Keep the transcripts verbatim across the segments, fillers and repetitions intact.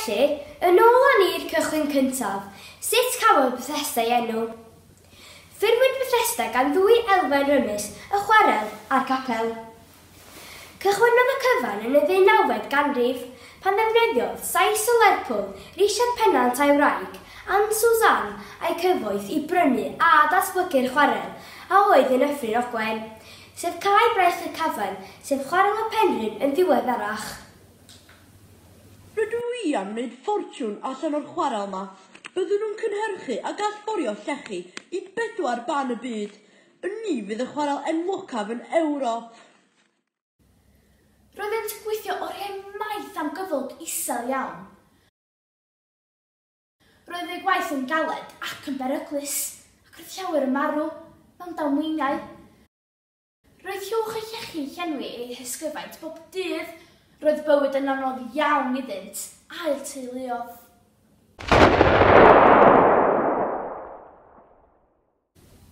Felly, yn ôl â ni i'r cychwyn cyntaf, sut cafodd Bethesda ei enw? Ffurfwyd Bethesda gan ddwy elfen rymus, y chwarel a'r capel. Cychwynnodd y cyfan yn y ddeunawfed ganrif, pan ddefnyddiodd Sais o Lerpwl, Richard Pennant a'i wraig, Anne Suzanne a'i cyfoeth i brynu a datblygu'r chwarel a oedd yn Nyffryn Ogwen, sef Cae Braich y Cafan, sef Chwarel y Penrhyn yn ddiweddarach. Rydw i am wneud ffortiwn allan o'r chwarel yma. Byddwn nhw'n cynhyrchu ac allforio llechi i bedwar ban y byd. Ni fydd y chwarel enwocaf yn Ewrop. Roeddent yn gweithio oriau maith am gyflog isel iawn. Roedd eu gwaith yn galed ac yn beryglus, ac roedd llawer yn marw mewn damweiniau. Roedd llwch y llechi'n llenwi eu hysgyfaint bob dydd. Roedd bywyd yn anodd iawn iddynt a'u teuluoedd.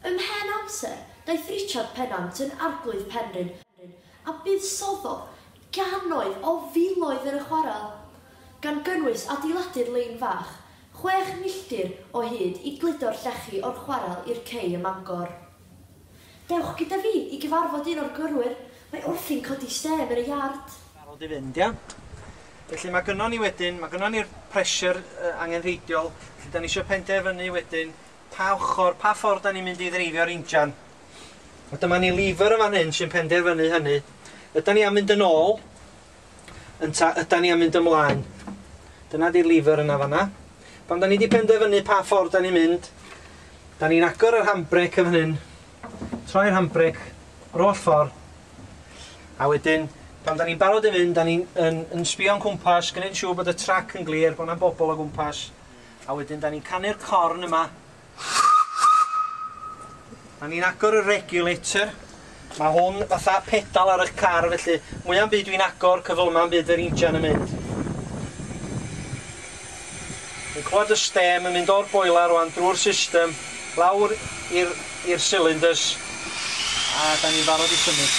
Ymhen amser, daeth Richard Pennant yn arglwydd Penrhyn a buddsoddodd gannoedd o filoedd yn y chwarel, gan gynnwys adeiladu'r lein fach, chwech milltir o hyd i gludo'r llechi o'r chwarel i'r cei ym Mangor. Dewch gyda fi i gyfarfod un o'r gyrwyr, mae wrthi'n codi stêm yn y iard. Barod i fynd, ia? Felly mae gynnon ni wedyn, mae gynnon ni'r pressure uh, angenrheidiol, felly da ni eisiau penderfynu wedyn pa ochr, pa ffordd da ni'n mynd i ddreifio'r injan. A dyma ni lever yn fan hyn sy'n penderfynu hynny. Ydan ni am mynd yn ôl, ynta ydan ni am mynd ymlaen. Dyna di'r lever yna fanna. Pan da ni wedi penderfynu pa ffordd da ni'n mynd, da ni'n agor yr handbrake yn fan hyn, troi'r handbrake, yr holl ffordd, a wedyn, pan da ni'n barod i fynd, da ni'n yn, yn sbio'n cwmpas, gwneud yn siŵr bod y trac yn glir, bod 'na bobl o gwmpas, a wedyn da ni'n canu'r corn yma. Da ni'n agor y regulator. Mae hwn fatha pedal ar eich car, felly mwya'm byd dwi'n agor, cyflyma'n byd yr injan yn mynd. Dwi'n clywed y stêm yn mynd o'r boiler rwan drwy'r system, lawr i'r i'r cylinders, a da ni'n barod i symud.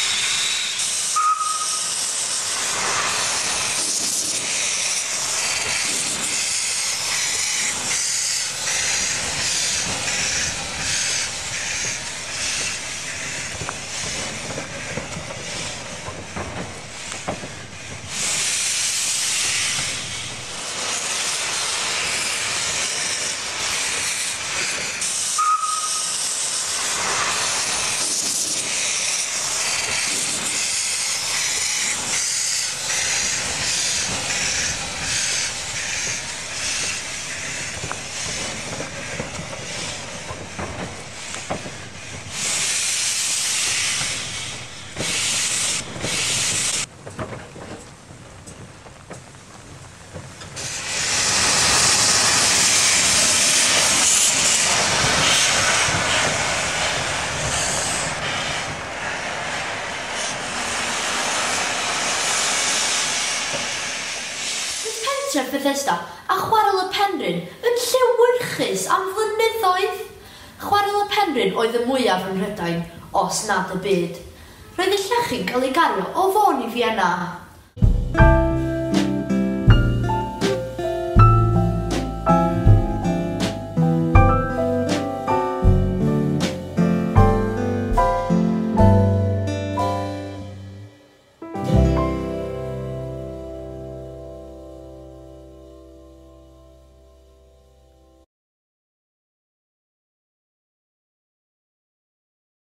Pentref Bethesda a Chwarel y Penrhyn yn llewyrchus am flynyddoedd. Chwarel y Penrhyn oedd y mwyaf ym Mhrydain, os nad y byd. Roedd y llechi'n cael ei gario o Fôn i Fienna.